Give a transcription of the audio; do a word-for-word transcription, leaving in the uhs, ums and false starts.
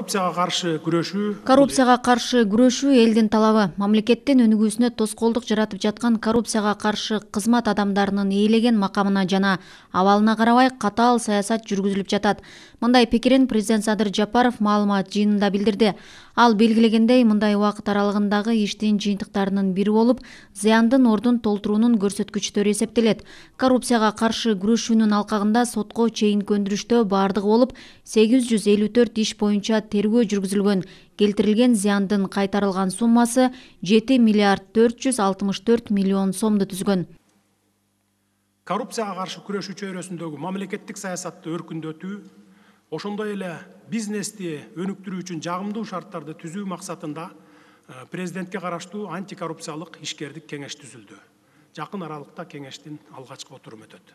Коррупцияга каршы күрөшүү Коррупцияга каршы күрөшүү элдин талабы. Мамлекеттин өнүгүүсүнө тоскоолдук жаратып жаткан коррупцияга каршы кызмат адамдарынын ээлеген макамына жана абалына карабай катаал саясат жүргүзүлүп жатат. Мындай пикирин президент Садыр Жапаров маалымат жыйынында билдирди. Ал белгилегендей, мындай убакыт аралыгындагы иштин жыйынтыктарынын бири болуп, зыяндын ордун толтуруунун көрсөткүчтөрү эсептелет. Коррупцияга каршы күрөшүүнүн алкагында сотко чейинки өндүрүштө бардыгы болуп сегиз жүз элүү төрт иш боюнча тергөө жүргүзүлгөн. Келтирилген зыяндын кайтарылган суммасы жети миллиард төрт жүз алтымыш төрт миллион сомду түзгөн. Коррупцияга каршы күрөшүү чөйрөсүндөгү мамлекеттик саясатты өркүндөтүү, ошондой эле бизнести өнүктүрүү үчүн жагымдуу шарттарды түзүү максатында президентке караштуу антикоррупциялык ишкердик кеңеш түзүлдү. Жакын аралыкта кеңештин алгачкы отуруму өтөт.